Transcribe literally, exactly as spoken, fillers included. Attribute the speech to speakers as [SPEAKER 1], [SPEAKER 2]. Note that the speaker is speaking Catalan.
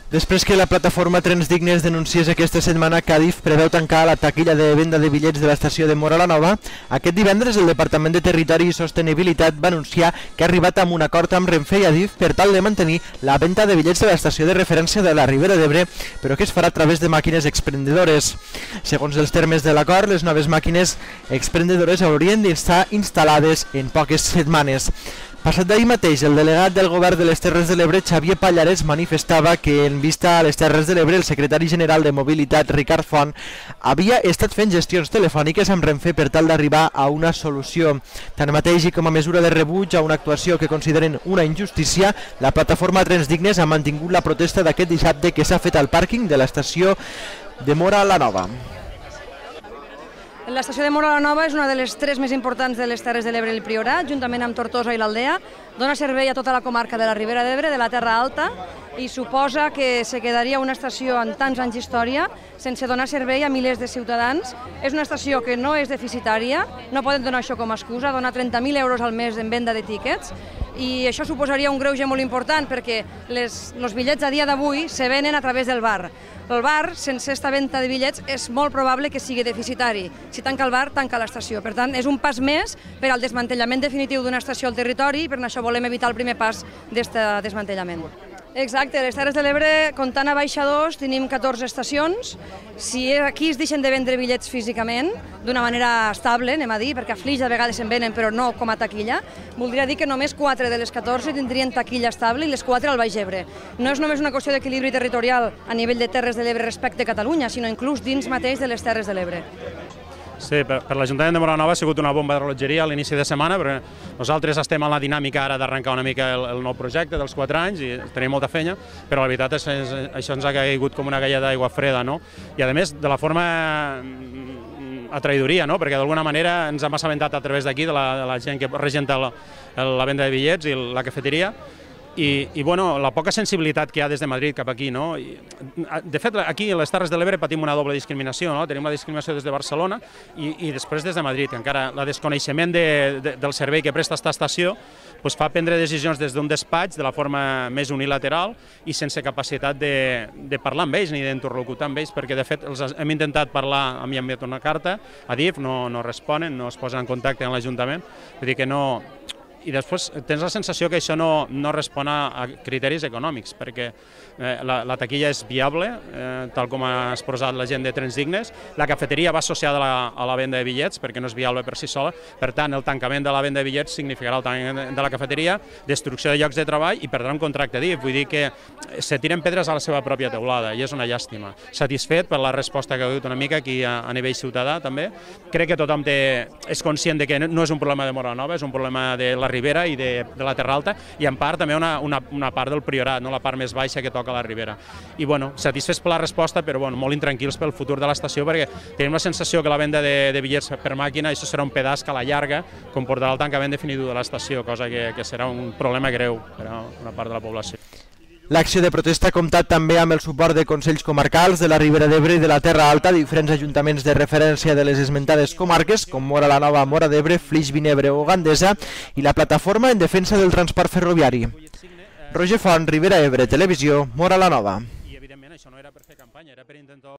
[SPEAKER 1] Després que la plataforma Trens Dignes denunciés aquesta setmana que Adif preveu tancar la taquilla de venda de bitllets de l'estació de Móra la Nova, aquest divendres el Departament de Territori i Sostenibilitat va anunciar que ha arribat a un acord amb Renfe i Adif per tal de mantenir la venda de bitllets de l'estació de referència de la Ribera d'Ebre, però que es farà a través de màquines expendedores. Segons els termes de l'acord, les noves màquines expendedores haurien d'estar instal·lades en poques setmanes. Passat d'ahir mateix, el delegat del Govern de les Terres de l'Ebre, Xavier Pallares, manifestava que, en vista a les Terres de l'Ebre, el secretari general de Mobilitat, Ricard Font, havia estat fent gestions telefòniques amb Renfe per tal d'arribar a una solució. Tanmateix, i com a mesura de rebuig a una actuació que consideren una injustícia, la plataforma Trens Dignes ha mantingut la protesta d'aquest dissabte que s'ha fet al pàrquing de l'estació de Móra la Nova.
[SPEAKER 2] L'estació de Móra la Nova és una de les tres més importants de les Terres de l'Ebre i el Priorat, juntament amb Tortosa i l'Aldea. Dona servei a tota la comarca de la Ribera d'Ebre, de la Terra Alta, i suposa que se quedaria una estació amb tants anys d'història sense donar servei a milers de ciutadans. És una estació que no és deficitària, no podem donar això com a excusa, donar trenta mil euros al mes en venda de tíquets, i això suposaria un greuge molt important perquè les, els bitllets a dia d'avui se venen a través del bar. El bar, sense aquesta venda de bitllets, és molt probable que sigui deficitari. Si tanca el bar, tanca l'estació. Per tant, és un pas més per al desmantellament definitiu d'una estació al territori i per això volem evitar el primer pas d'aquest desmantellament. Exacte, les Terres de l'Ebre, comptant a baixadors, tenim catorze estacions. Si aquí es deixen de vendre bitllets físicament, d'una manera estable, anem a dir, perquè a Flix de vegades se'n venen, però no com a taquilla, voldria dir que només quatre de les catorze tindrien taquilla estable i les quatre al Baix Ebre. No és només una qüestió d'equilibri territorial a nivell de Terres de l'Ebre respecte a Catalunya, sinó inclús dins mateix de les Terres de l'Ebre.
[SPEAKER 3] Sí, per, per l'Ajuntament de Móra la Nova ha sigut una bomba de rellotgeria a l'inici de setmana, però nosaltres estem en la dinàmica ara d'arrencar una mica el, el nou projecte dels quatre anys i tenim molta feina, però la veritat és que això ens ha caigut com una galla d'aigua freda, no? I a més, de la forma a traïdoria, no? Perquè d'alguna manera ens hem assabentat a través d'aquí, de, de la gent que regenta la, la venda de bitllets i la cafeteria, I, i bueno, la poca sensibilitat que hi ha des de Madrid cap aquí, no? I, de fet, aquí a les Terres de l'Ebre patim una doble discriminació, no? Tenim la discriminació des de Barcelona i, i després des de Madrid, que encara el desconeixement de, de, del servei que presta aquesta estació pues, fa prendre decisions des d'un despatx de la forma més unilateral i sense capacitat de, de parlar amb ells ni d'interlocutar amb ells, perquè de fet els hem intentat parlar, a mi hem enviat una carta a D I F, no, no responen, no es posen en contacte amb l'Ajuntament, vull dir que no... I després tens la sensació que això no, no respon a criteris econòmics, perquè eh, la, la taquilla és viable, eh, tal com ha exposat la gent de Trens Dignes, la cafeteria va associada a la, a la venda de bitllets, perquè no és viable per si sola, per tant, el tancament de la venda de bitllets significarà el tancament de la cafeteria, destrucció de llocs de treball i perdrà un contracte D I F, vull dir que se tiren pedres a la seva pròpia teulada, i és una llàstima. Satisfet per la resposta que ha hagut una mica aquí a, a nivell ciutadà, també. Crec que tothom té, és conscient de que no és un problema de Móra la Nova, és un problema de la Ribera i de, de la Terra Alta, i en part també una, una, una part del Priorat, no? La part més baixa que toca la Ribera. I bueno, satisfets per la resposta, però bueno, molt intranquils pel futur de l'estació, perquè tenim la sensació que la venda de, de bitllets per màquina, això serà un pedaç que a la llarga comportarà el tancament definitiu de l'estació, cosa que, que serà un problema greu per a una part de la població.
[SPEAKER 1] L'acció de protesta ha comptat també amb el suport de consells comarcals de la Ribera d'Ebre i de la Terra Alta, diferents ajuntaments de referència de les esmentades comarques, com Móra la Nova, Móra d'Ebre, Flix, Vinebre o Gandesa, i la plataforma en defensa del transport ferroviari. Roger Font, Ribera Ebre, Televisió, Móra la Nova.
[SPEAKER 3] I evidentment això no era per fer campanya, era per intentar